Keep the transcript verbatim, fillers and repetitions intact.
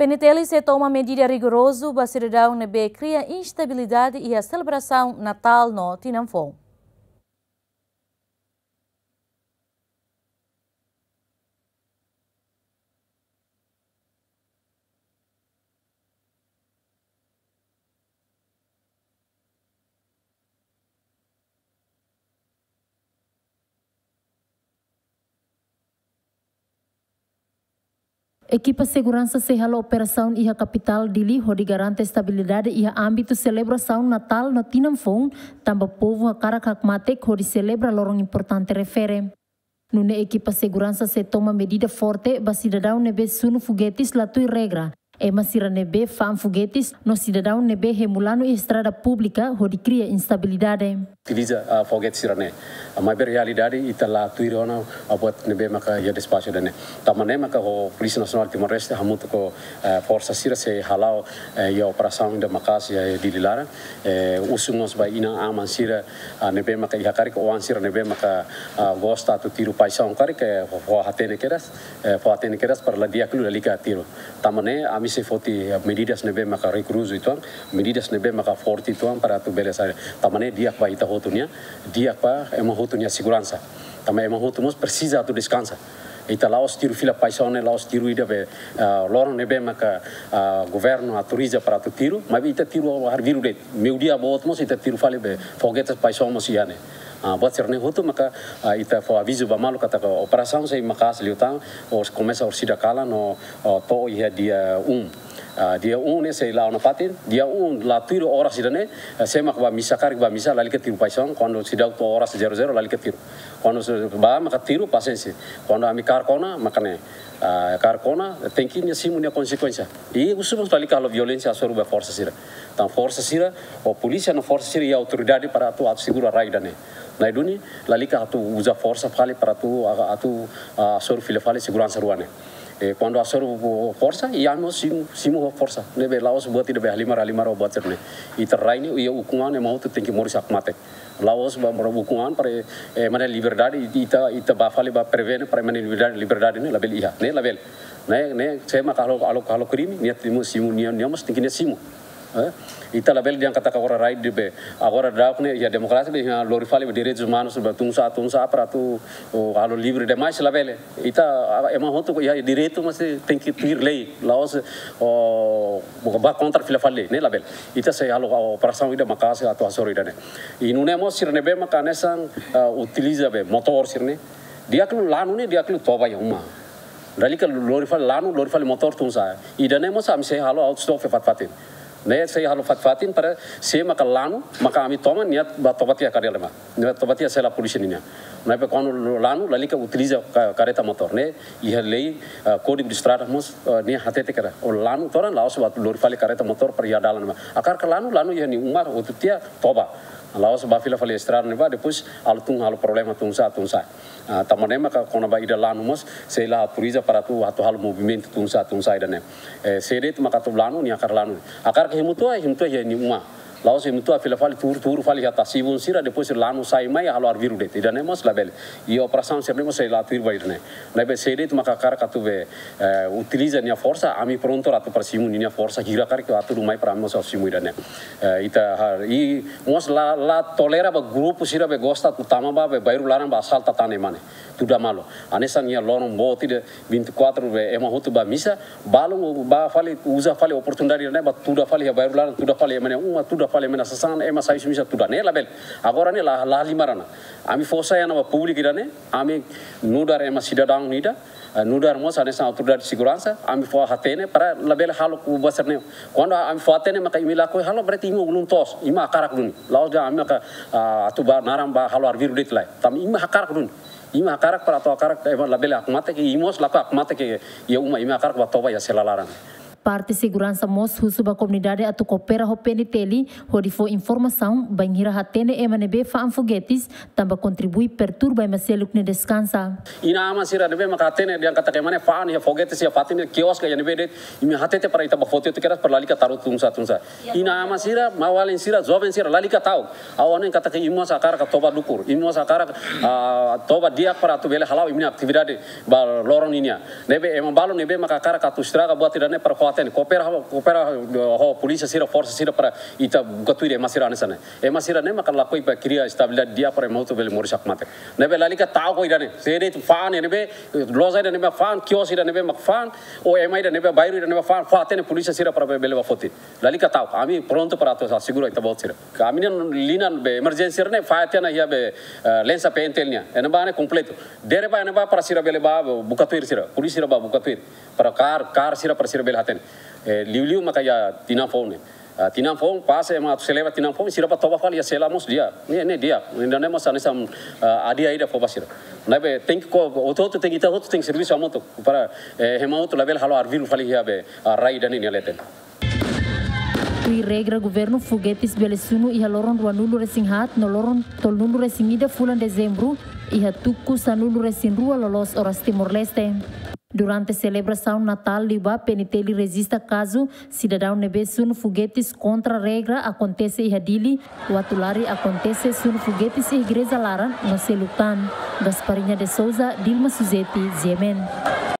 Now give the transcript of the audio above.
PNTL sei toma medida rigorozu ba sidadaun ne'ebé kria instabilidade iha selebrasaun Natál no Tinan Foun. Ekipa seguransa sei halo operasaun iha kapitál Dili hodi garante estabilidade iha ámbitu selebrasaun Natál no Tinan Foun, tanba povu hakarak hakmatek hodi selebra loron importante refere. Nune'e ekipa seguransa sei toma medida forte ba sidadaun ne'ebé sunu fogetis la tuir regra, ema sira ne'ebé fa'an fogetis no sidadaun ne'ebé hemu lanu iha estrada públika hodi kria instabilidade. Utiliza, ah, fogetis sira-ne'e. Ah, maibé realidade ita la tuir ona, ah, buat ne'ebé maka iha despaxu ida-ne'e. Tanba ne'e maka ho Polísia Nasionál Timor-Leste hamutuk ho, eh, forsa sira sei hala'o, eh, iha operasaun ida maka'as iha Dili laran. Eh, husu mós ba inan-aman sira, ah, ne'ebé maka iha karik oan sira ne'ebé maka, ah, gosta atu tiru paixaun karik, eh, fó, fó hatene kedas, eh, fó hatene kedas para la di'ak liu lalika tiru. Tanba ne'e ami sei foti, eh, medidas ne'ebé maka rigorozu uitoan, medidas ne'ebé maka forte uitoan para atu bele sai. Tanba ne'e di'ak ba ita hotu nian, di'ak ba ema hotu nia seguransa. Tanba ema hotu mós presiza atu deskansa. Ita la'ós tiru fila paixaun ne'e, la'ós tiru ida be, ah, loron ne'ebé maka, ah, governu autoriza para atu tiru, maibé ita tiru arbiru de'it. Meiudia boot mós ita tiru fali be fogetis paixaun mós iha ne'e. Ah, buat sira-ne'e hotu maka, ah, ita fó avizu ba malu katak operasaun sei maka'as liután, oras komesa orsida kalan no, oh, to'o iha dia um. Ah, dia um ne'e sei la'o nafatin, dia um la tuir oras ida-ne'e, eh, sé mak ba misa karik ba misa, lalika tiru paixaun, kuandu seidauk to'o oras zero zero, lalika tiru. Kuandu se-, ba maka tiru pasiénsia. Kuandu ami kaer kona, maka ne'e, ah, kaer kona, tenke nia simu nia konsekuénsia. I husu mós lalika halo violénsia hasoru ba forsa sira. Tanba forsa sira, ou polísia no forsa sira iha autoridade para atu, atu segura rai ida-ne'e. Nai duni, lalika atu uza forsa fali para atu, atu, ah, hasoru fila fali seguransa rua ne'e. Eh, kuandu hasoru forsa, iha ami simu, simu ho forsa. Ne'ebé la'ós buat ida be halimar, halimar ho buat sira-ne'e. Ita rai ne'e, iha ukun-an ne'e ema hotu tenke moris hakmatek. La'ós ba mora ukun-an para, eh, ema nia liberdade, ita, ita ba fali ba prevene para ema nia liberdade, liberdade ne'e labele iha, ne'e labele. Ne'e, ne'e, sé mak halo, halo, halo krime, nia simu, simu, nia, nia mós tenke nia simu. Eh, ita labele dehan katak agora rai ida be, agora daudaun ne'e iha demokrasia be, iha lori fali be direitus umanus be tun sa'e, tun sa'e para atu, oh, halo livre demais, labele. Ita, ah, ema hotu iha direitu mas tenke tuir lei, la'ós, oh, ba kontra fila fali lei, ne'e labele. Ita sei halo, ah, operasaun ida maka'as atu hasoru ida-ne'e. I nune'e mós sira ne'ebé maka hanesan, ah, utiliza be motór sira-ne'e. Di'ak liu lanu ne'e, di'ak liu toba iha uma. Lalika lori fali lanu, lori fali motór tun sa'e. Ida-ne'e mós ami sei halo autostop fatin-fatin. Ne'e sei halo fatin-fatin para sé maka lanu, maka ami toma nia ba toba tiha kadela ma. Nia toba tiha sela polísia nian. Ne'ebé kuandu lanu, lalika utiliza ka-, kareta motór. Ne'e iha lei, ah, Kódigu de Estrada mós, ah, nia hatete katak, oh, lanu todan la'ós ba lori fali kareta motór para iha dalan ma. Hakarak lanu, lanu iha nia uma, hotu tiha toba. La'ós ba fila fali estrada ne'ebá, depois halo tun, halo problema tun sa'e, tun sa'e. Ah, tanba ne'e maka kona-ba ida lanu mós, sei la autoriza para atu, atu halo movimentu tun sa'e, tun sa'e ida-ne'e. Eh, sé de'it maka atu lanu, nia hakarak lanu. Hakarak hemu tua, hemu tua iha nia uma. La'ós hemu tua fila fali tuur, tuur fali iha tasi-ibun sira, depois lanu sai mai, halo arbiru de'it. Ida-ne'e mós labele. I operasaun sira-ne'e mós sei la tuir ba ida-ne'e. Ne'ebé sé de'it maka hakarak atu be, eh, utiliza nia forsa, ami prontu atu para simu nia forsa, hira karik atu mai para ami mós simu ida-ne'e. Eh, ita har-, i mós la, la tolera ba grupu sira be gosta atu tama ba be bairru laran ba asalta tan ema ne'e. Tuda malu. Hanesan iha loron boot ida vinte e quatro be ema hotu ba misa, balu ba fali uza fali oportunidade ne'e ba tuda fali iha bairru laran, tuda fali ema nia uma, tuda fali ema nia sasán, ema sai husi misa tuda. Ne'e labele. Agora ne'e la, la halimar ona. Ami fó sai ona ba públiku ida-ne'e, ami nu'udar ema sidadaun ida, eh, nu'udar mós hanesan autoridade seguransa, ami fó hatene para labele halo buat sira-ne'e. Kuandu ami fó hatene maka imi lakohi halo, berarti imi ulun toos, imi hakarak duni. La'ós dehan ami maka, ah, atu ba naran ba halo arbiru de'it lae. Tanba imi hakarak duni. Imi hakarak para atu hakarak, eh, labele hakmatek, imi mós lakohi hakmatek iha uma, imi hakarak ba toba iha sela laran. Parte seguransa mós husu ba komunidade atu koopera ho PNTL hodi fó informasaun bainhira hatene ema ne'ebé fa'an fogetis, tanba kontribui perturba ema seluk nia deskansa. Inan-aman sira ne'ebé maka hatene dehan katak ema ne'e fa'an iha fogetis iha fatin ne'e, kioske iha ne'ebé de'it, imi hatete para ita ba foti hotu kedas para lalika taru tun sa'e, tun sa'e. Inan-aman sira, maun-alin sira, joven sira, lalika ta'uk. Ha'u hanoin katak imi mós hakarak toba dukur, imi mós hakarak, ah, toba di'ak para atu bele hala'o imi-nia atividade ba loron ninian. Ne'ebé ema balu ne'ebé maka hakarak atu estraga buat ida-ne'e para fó Hatene, koopera, koopera ho polísia sira, forsa sira para ita buka tuir ema sira hanesan ne'e. Ema sira ne'e maka lakohi ba kria estabilidade di'ak para ema hotu bele moris hakmatek. Ne'ebé lalika ta'uk ho ida-ne'e. Se de'it fa'an ne'ebé, loja ida ne'ebé fa'an, kios ida ne'ebé mak fa'an, ou ema ida ne'ebé bairru ida ne'ebé fa'an, fó hatene polísia sira para bele ba foti. Lalika ta'uk, ami prontu para atu asegura ita-boot sira. Ami-nia liña be emerjénsia ne'e fahe tiha ona iha be, eh, lensa P N T L nian. Ne'ebá ne'e kompletu. Dere ba ne'ebá para sira bele ba buka tuir sira. Polísia sira ba buka tuir. Para kaer, kaer sira para sira bele hatene. Eh, liuliu maka iha tinan foun ne'e. Ah, tinan foun, pas ema atu selebra tinan foun, sira ba toba fali iha sela mós di'ak. Ne'e, ne'e di'ak. Ne'e, ne'e mós hanesan, ah, hadi'a ida fó ba sira. Ne'ebé tenke ko, hotu-hotu tenke, ita hotu tenke servisu hamutuk. Para, eh, ema hotu labele halo arviluk fali iha be, ah, rai ida-ne'e nia leten. Tuir regra governu, fogetes bele sunu iha loron ruanulu-resin-haat no loron tolunulu-resin-ida fulan Dezembru, iha tuku sanulu-resin-rua loloos oras Timor-Leste. Durante selebrasaun Natál liubá, P N T L rejista kazu sidadaun ne'ebé sunu fogetes kontra regra akontese iha Dili, Uatulari akontese sunu fogetes iha igreja laran no seluk tan. Gasparinha de Souza, Dilma Suzeti, G M N.